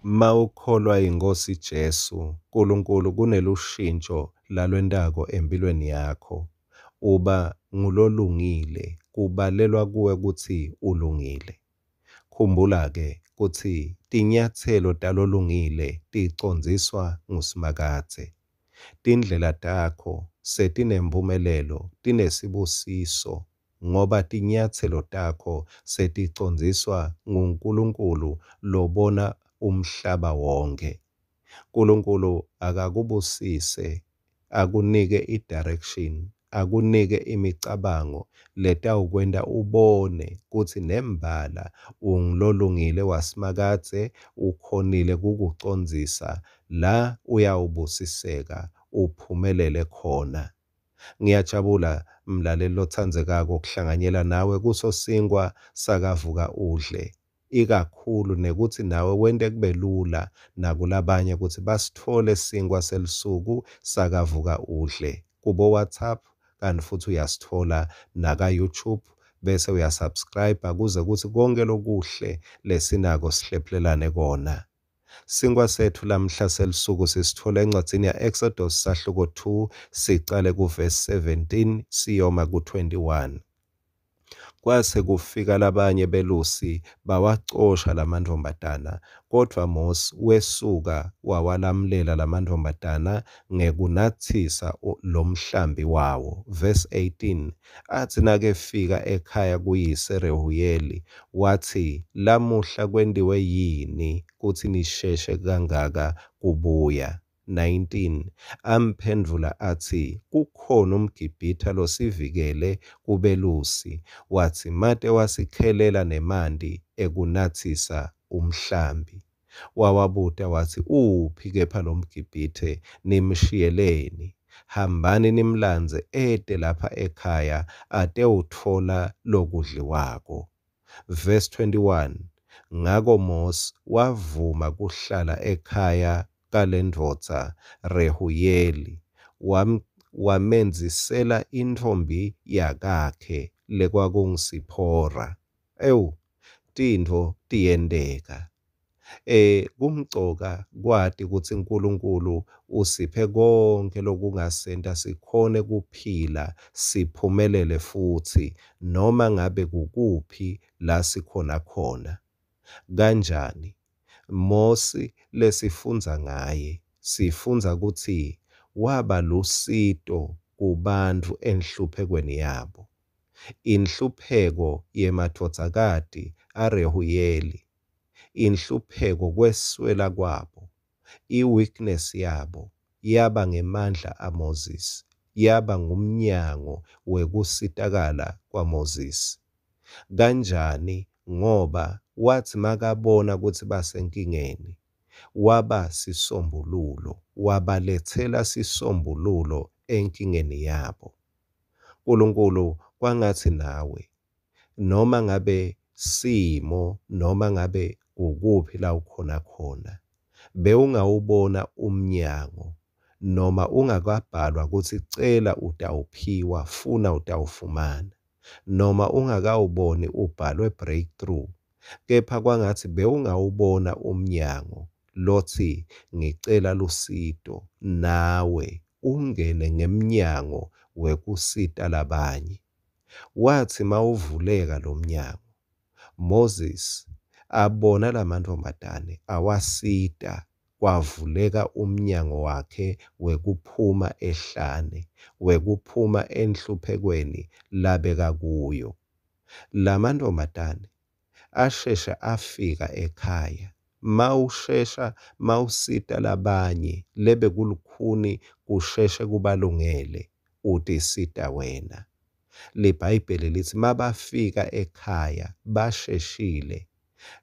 Mawukholwa yiNkhosi Jesu, Nkulunkulu kunelushintjo lalwentako emphilweni yakho. Uba ngulolungile, kubalelwa kuwe kutsi ulungile. Khumbula-ke kutsi tinyatselo talolungile ticondziswa nguSimakadze. Tindlela takho setinemphumelelo tinesibusiso ngoba tinyatselo takho seticondziswa nguNkulunkulu lobona umhlaba wonkhe. Nkulunkulu akakubusise, akunike i-direction, akunike imicabango letawukwenta ubone kutsi nembala ungulolungile waSimakadze, ukhonile kukucondzisa la uyawubusiseka uphumelele khona. Ngiyajabula mlaleli lotsandzekako kuhlanganyela nawe kuso sinkwa sakavuka udle ikakhulu nekutsi nawe wente kube lula nakulabanye kutsi basitfole sinkwa selusuku sakavuka udle kubo WhatsApp kanti futhi uyasitfola naka YouTube bese uyasubscribe kuze kutsi konke lokuhle lesinako sihlephulelane kona. Sinkwa setfu lamhla selusuku sisitfola encwadzini ya-Exodus sahluko 2 sicale kuvesi 17 siyoma ku-21. Kwase kufika labanye belusi bawacosha lamantfombatana, kodvwa Mosi wesuka wawalamlela lamantfombatana ngekunatsisa lomhlambi wawo. Verse 18 Atsi nakefika ekhaya kuyise Rehuyeli, watsi, Lamuhla kwentiwe yini kutsi nisheshe kangaka kubuya? 19 Amphendvula atsi, Kukhona umGibhithe losivikele kubelusi, wadzimate wasikhelela nemanti ekunatsisa umhlambi. Wawabuta watsi, Uphi kepha lomGibhithe? Nimshiyeleni? Hambani nimlandze ete lapha ekhaya atewutfola lokudliwako. Verse 21 Ngako Mosi wavuma kuhlala ekhaya kalendvodza Rehuyeli, wamendzisela intfombi yakakhe lekwakunguSiphora. Ewu, tintfo tiyenteka. Kumcoka kwati kutsi Nkulunkulu usiphe konke lokungasenta sikhone kuphila siphumelele futsi noma ngabe kukuphi la sikhona khona. Kanjani? Mosi lesifundza ngaye, sifundza kutsi waba lusito kubantfu enhluphekweni yabo. Inhlupheko yemadvodzakati aRehuyeli, inhlupheko kweswela kwabo, i-weakness yabo yaba ngemandla aMoses, yaba ngumnyango wekusitakala kwaMoses. Kanjani? Ngoba watsi makabona kutsi basenkingeni, waba sisombululo, wabaletsela sisombululo enkingeni yabo. Nkulunkulu kwangatsi nawe noma ngabe simo noma ngabe kukuphi la ukhona khona bewungawubona umnyango noma ungakabhalwa kutsi cela utawuphiwa funa utawufumana noma ungakawuboni ubhalwe breakthrough kepha kwangatsi bewungawubona umnyango lotsi ngicela lusito nawe ungene ngemnyango wekusita labanye. Watsi mawuvuleka lomnyango, Moses abona lamantfombatane awasita kwavuleka umnyango wakhe wekuphuma ehlane, wekuphuma enhluphekweni labekakuyo. Lamantfombatane asheshe afika ekhaya. Mawushesha mawusita labanye lebekulukhuni kusheshe kubalungele utisita wena. LiBhayibheli litsi mabafika ekhaya basheshile,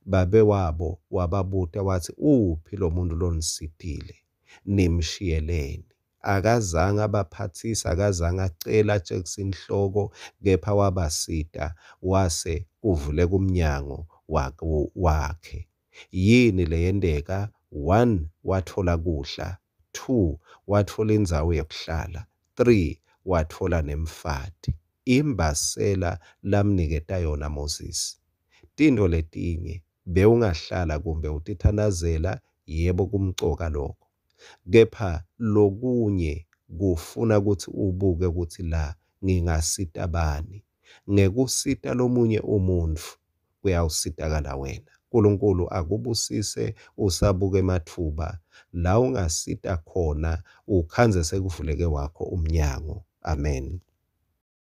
babe wabo wababuta watsi, uphi lo muntu lonisitile? Nimshiyeleni? Akazange abaphatsise, akazange acele atjekise inhloko, kepha wabasita wase kuvuleka umnyango wakhe. Yini leyenteka? One, watfola kudla. Two, watfola indzawo yekuhlala. Three, watfola nemfati. Imbasela lamniketa yona Moses. Tintfo letinye bewungahlala kumbe utithandazela Yebo kumcoka loko. Kepha lokunye kufuna kutsi ubuke kutsi la ngingasita bani. Ngekusita lomunye umuntfu kuyawusitakala wena. Nkulunkulu akubusise usabuka ematfuba la ungasita khona ukhandze sekuvuleke wakho umnyango. Amen.